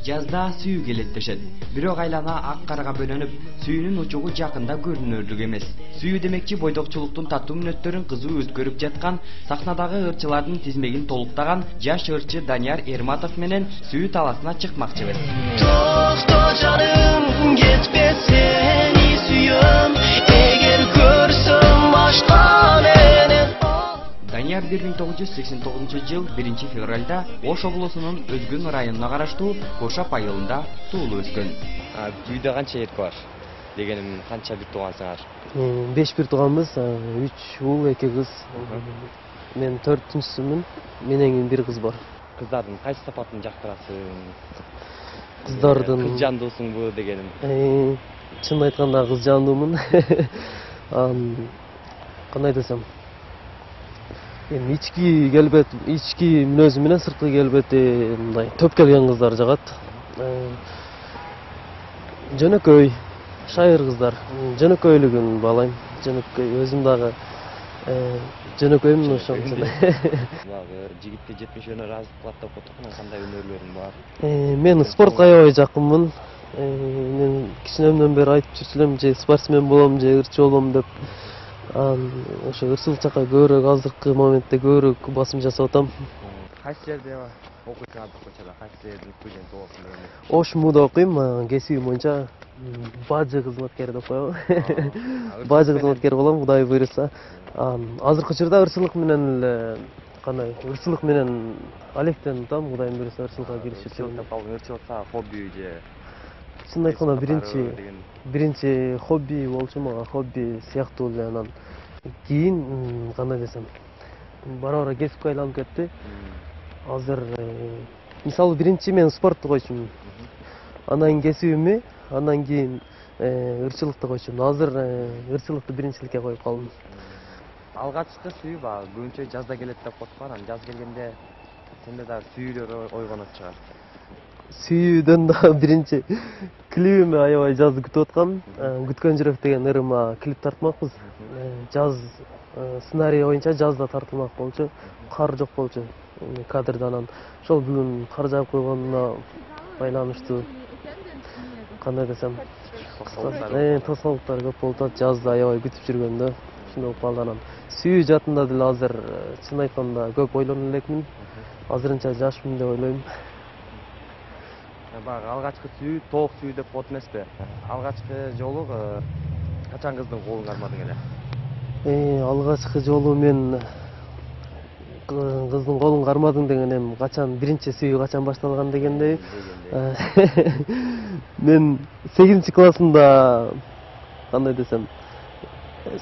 Жазда сүйүү келеттешет. Бирок айлана ак карага бөлөнүп, сүйүүнүн учугу жакында көрүнөрлүк эмес. Сүйүү демекчи бойдокчулуктун таттуу мүнөттөрүн кызуу өткөрүп жаткан, сахнадагы ырчылардын тизмегин толуктаган жаш ырчы Данияр Эрматов менен сүйүү таласына чыкмакчыбыз. Токто жаным, кетпе сени сүйөм, эгер көрсөм башка менен. Данияр 1989 жыл 1-февралда Ош облусунун Өзгөн районуна караштуу Кошап айылында туулуп өскөн. Үйдө канча эркек бар? Дегеним канча бир туугансыңар? 5 бир тууганбыз, 3 уул, 2 кыз. Мен 4-түнчүсүмүн. Менен бир кыз бар. Кыздардын кайсы сапатын жактырасың? Кыздардын кыз жандуусуңбу дегеним. Чын айтканда кыз жандуумун. Кандай десем? Ички келбет, ички мүнөзү менен сырткы келбети мындай төп келген кыздар жагат. Жөнөкөй, шайыр кыздар. Жөнөкөйлүгүн баалайм. Жөнөкөй өзүм дагы жөнөкөймүн ошондо. Жигитти 70 өнөр аз кылат деп отурган, кандай өнөрлөрүң бар? Мен спортко аябай жакынмын. Мен кичинемден бери айтып жүрчү элем, же спортсмен болом, же ырчы болом деп. Ошо ырчылык жакка көбүрөөк азыркы моментте көбүрөөк басым жасап атам. Кайсы жерде окуйсуң азыр көчөдө? Кайсы жердин студенти болосуң дегенде? Ош МУда окуйм, кесибим боюнча бажы кызматкери деп коебу. Бажы кызматкери болом, Кудай буйруса. Азыркы учурда ырчылык менен эле ырчылык менен алектенип атам, Кудай буйруса ырчылыкка киришип. Ырчылыкка хобби же? Чын айтканда биринчи хобби болчу, мага хобби сыяктуу эле, анан кийин кандай десем, бара-бара кесипке айланып кетти. Азыр мисалы биринчи мен спортту койчумун. Андан кийин кесибимди, андан кийин ырчылыкты койчумун. Азыр ырчылыкты биринчиликке коюп калдым. Алгачкы сүйүү баягы көбүнчө жазда келет деп коет го, анан жаз келгенде сенде дагы сүйүүлөр ойгонот чыгар. Сүйүүдөн да биринчи клибими аябай жазды күтүп аткам. Күткөн жүрөк деген ырыма клип тартмакпыз. Жаз сценарий боюнча жазда тартылмак болчу. Кар жок болчу кадрда, анан ошол бүгүн кар жаап койгонуна байланыштуу. Кандай десем, тосолуктар көп болуп атат. Жазда аябай күтүп жүргөндө ушундай болуп калды. Анан сүйүү жаатында деле азыр чын айтканда көп ойлоно элекмин. Азырынча жашмын деп ойлойм. Баягы алгачкы сүйүү тоок сүйүү деп коет эмеспи? Алгачкы жолу качан кыздын колун кармадың эле? Алгачкы жолу мен кыздын колун кармадым дегенем качан биринчи сүйүү качан башталган дегендей. Мен 8-классында кандай десем,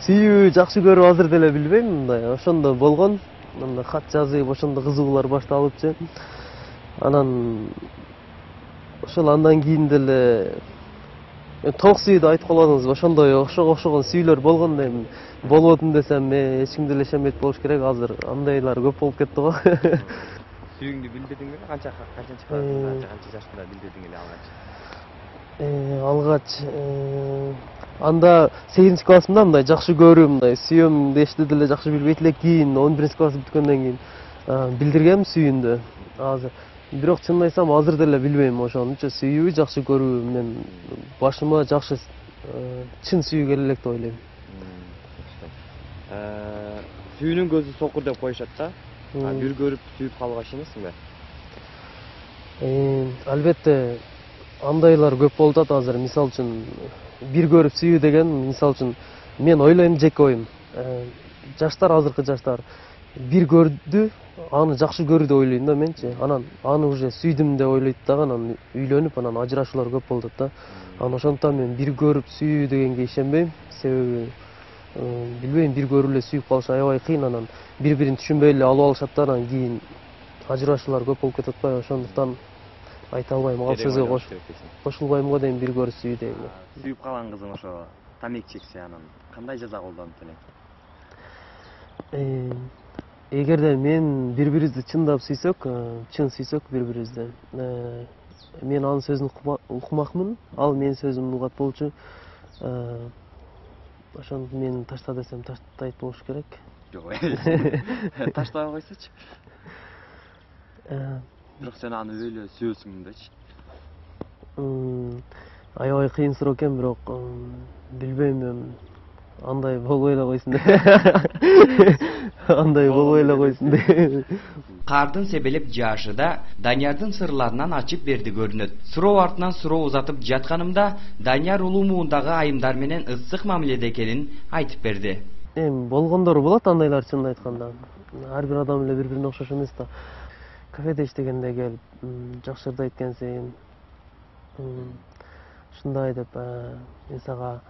сүйүү жакшы көрүп азыр деле билбейм, мындай ошондо болгон. Мындай кат жазып, ошондо кызыгуулар башталыпчы. Анан ошол андан кийин деле тоок сүйүүдө айтып калбадыңызбы? Ошондой окшогон сүйүүлөр болгон дейм. Болбодун десем, эч ким деле ишенбейт болуш керек. Азыр андайлар көп болуп кетти го. Сүйүүңдү билдирдиң беле? Канча жашында билдирдиң эле алгач? Анда 8-классымда мындай жакшы көрүү, мындай сүйөм дешти деле жакшы билбейт элек. Кийин 11-класс бүткөндөн кийин билдиргем сүйүүндү. Азыр бирок чынын айтсам азыр деле билбейм ошонучу сүйүү жакшы көрүү мен башыма жакшы чын сүйүү келе элек деп ойлойм. Сүйүүнүн көзү сокур деп коюшат да. Бир көрүп сүйүп калбакчы эмессиңби? Албетте андайлар көп болуп атат азыр. Мисалы үчүн бир көрүп сүйүү деген, мисалы үчүн мен ойлойм, жеке оюм. Жаштар, азыркы жаштар бир көрдү, аны жакшы көрүү деп ойлойм да менчи. Анан аны уже сүйдүм деп ойлойт дагы, анан үйлөнүп, анан ажырашуулар көп болуп атат да. Анан ошондуктан мен бир көрүп сүйүү дегенге ишенбейм. Себеби билбейм, бир көрүп эле сүйүп калыш аябай кыйын, анан бири-бирин түшүнбөй эле алып алышат да, анан кийин ажырашуулар көп болуп кетип атпайбы? Ошондуктан айта албайм, ал сөзгө кошулбайм го дейм, бир көрүп сүйүү дегенге. Сүйүп калган кызың ошо тамек чексе, анан кандай жаза колдонуп элең? Эгерде мен бири-бирибизди чындап сүйсөк, чын сүйсөк бири-бирибизди, мен анын сөзүн укмакмын, ал менин сөзүмдү угат болчу. Ошондо мен ташта десем таштайт болуш керек. Жок, таштабай койсочу. Бирок сен аны өлө сүйөсүң дечи. Аябай кыйын суроо экен, бирок билбейм, андай болбой эле койсун деп. Андай болбой эле койсун деп. Кардын себелеп жаашы да Даниярдын сырларынан ачып берди көрүнөт. Суроо артынан суроо узатып жатканымда Данияр улуу муундагы айымдар менен ысык мамиледе экенин айтып берди. Болгондор болот андайлар, чынын айтканда. Ар бир адам эле бири-бирине окшош эмес да. Кафеде иштегенде келип, жакшырдайт экенсиң. Ушундай деп, мен сага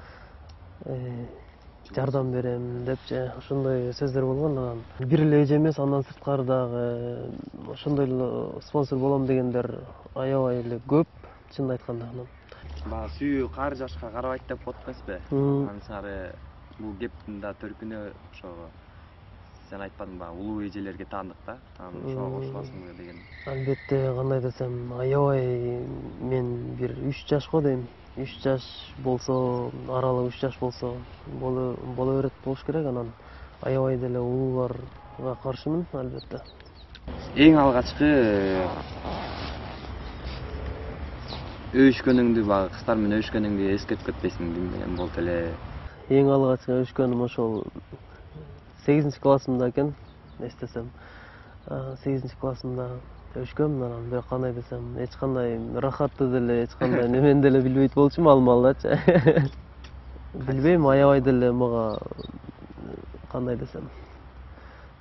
жардам берем депчи, ошондой сөздөр болгон. Анан бир эле эже эмес, андан сырткары дагы ошондой эле спонсор болом дегендер аябай эле көп, чынын айтканда. Баягы сүйүү кары жашка карабайт деп болот эмеспи? Анын сары бул кептин да төркүнү ошо сен айтпадың баягы улуу эжелерге таандык да, анан ошого кошуласыңбы деген. Албетте, кандай десем, аябай мен бир 3 жашко дейм. 3 жаш болсо, аралык 3 жаш болсо боло берет болуш керек. Анан аябай деле улууларга каршымын, албетте. Эң алгачкы өбүшкөнүңдү, баягы кыздар менен өбүшкөнүңдү эскертип кетпейсиң деген болот эле. Эң алгачкы өбүшкөнүм ошол 8-классымда экен, эстесем. 8-классымда өбүшкөм, анан бирок кандай десем, эч кандай рахатты деле, эч кандай немени деле билбейт болчумун алмалдачы. Билбейм, аябай деле мага кандай десем,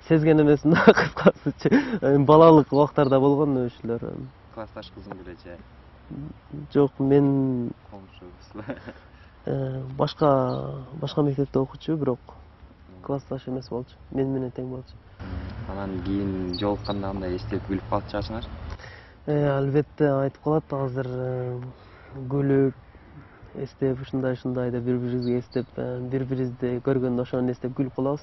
сезген эмесмин да, кыскасычы. Балалык убактарда болгон өбүшүүлөр. Классташ кызың белечи? Жок, мен Комшубуз. башка мектепте окучу, бирок классташ эмес болчу. Мен менен тең болчу. Анан кийин жолукканда андай эстеп күлүп калып жатышыңар? Албетте, айтып калат азыр күлүп, эстеп, ушундай деп бири-бирибизге эстеп, бири-бирибизди көргөндө ошону эстеп күлүп калабыз.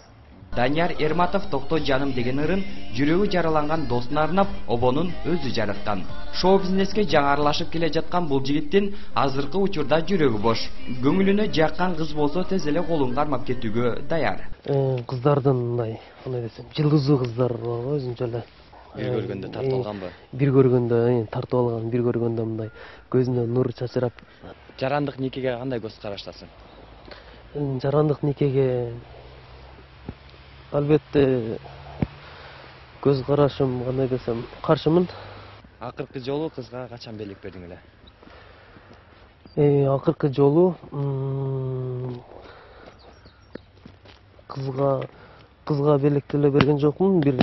Данияр Эрматов «Токто жаным» деген ырын жүрөгү жараланган досуна арнап обонун өзү жараткан. Шоу бизнеске жаңы аралашып келе жаткан бул жигиттин азыркы учурда жүрөгү бош. Көңүлүнө жаккан кыз болсо тез эле колун кармап кетүүгө даяр. Кыздардын мындай, кандай десем, жылдыздуу кыздар бар го өзүнчө эле. Бир көргөндө тартып алганбы? Бир көргөндө тартып алган, бир көргөндө мындай көзүнөн нур чачырап. Жарандык никеге кандай көз караштасың? Жарандык никеге албетте көз карашым, кандай десем, каршымын. Акыркы жолу кызга качан белек бердиң эле? Акыркы жолу кызга белек деле берген жокмун. Бир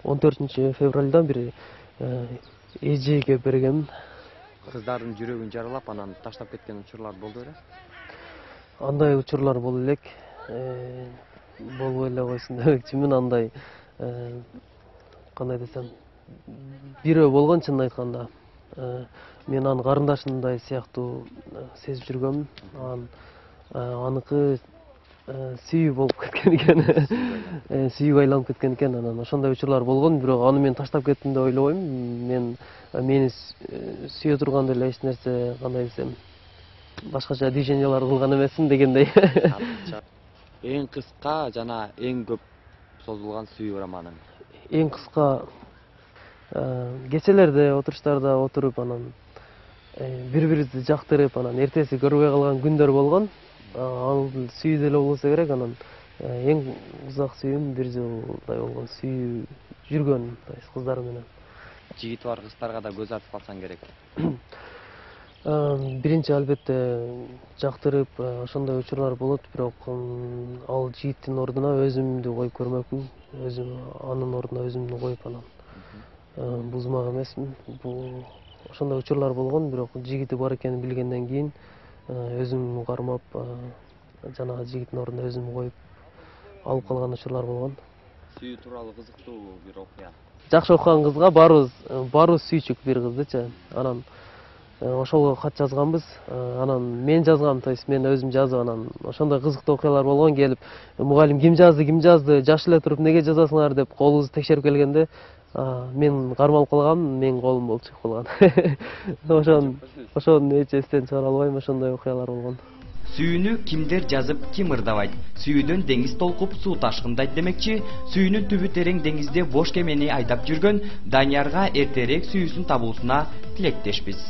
14-февралда бир эжеге бергем. Кыздардын жүрөгүн жаралап, анан таштап кеткен учурлар болду беле? Андай учурлар боло элек. Болбой эле койсун дебекчимин, андай кандай десем, бирөө болгон, чынын айтканда. Мен анын карындашындай сыяктуу сезип жүргөм. Аныкы сүйүү болуп кеткен экен. Сүйүүгө айланып кеткен экен. Анан ошондой учурлар болгон, бирок аны мен таштап кеттим деп ойлобойм. Мени сүйө турган деле эч нерсе, кандай десем, башкача движениялар кылган эмесмин дегендей. Эң кыска жана эң көп созулган сүйүү романың? Эң кыска кечелерде отуруштарда отуруп, анан бири-бирибизди жактырып, анан эртеси көрбөй калган күндөр болгон. Ал сүйүү деле болсо керек. Анан эң узак сүйүүм 1 жылдай болгон, сүйүү жүргөн кыздар менен. Жигити бар кыздарга да көз артып калсаң керек. Биринчи албетте жактырып, ошондой учурлар болот, бирок ал жигиттин ордуна өзүмдү коюп көрмөкмүн. Анын ордуна өзүмдү коюп, анан бузмак эмесмин. Бул ошондой учурлар болгон, бирок жигити бар экенин билгенден кийин өзүм кармап, жанагы жигиттин ордуна өзүм коюп алып калган учурлар болгон. Сүйүү тууралуу кызыктуу бир окуя. Жакшы окуган кызга барыбыз сүйчүк бир кыздычы. Анан ошого кат жазганбыз. Анан мен жазгам, то есть мен өзүм жазып, анан ошондой кызыктуу окуялар болгон. Келип, мугалим ким жазды, жаш эле туруп неге жазасыңар деп колубузду текшерип келгенде, мен кармалып калгам, менин колум болуп чыгып калган. Ошону эч эстен чыгара албайм, ошондой окуялар болгон. Сүйүүнү кимдер жазып, ким ырдабайт? Сүйүүдөн деңиз толкуп суу ташкындайт демекчи, сүйүүнүн түбү терең деңизде бош кемени айдап жүргөн Даниярга эртерээк сүйүүсүн табуусуна тилектешпиз.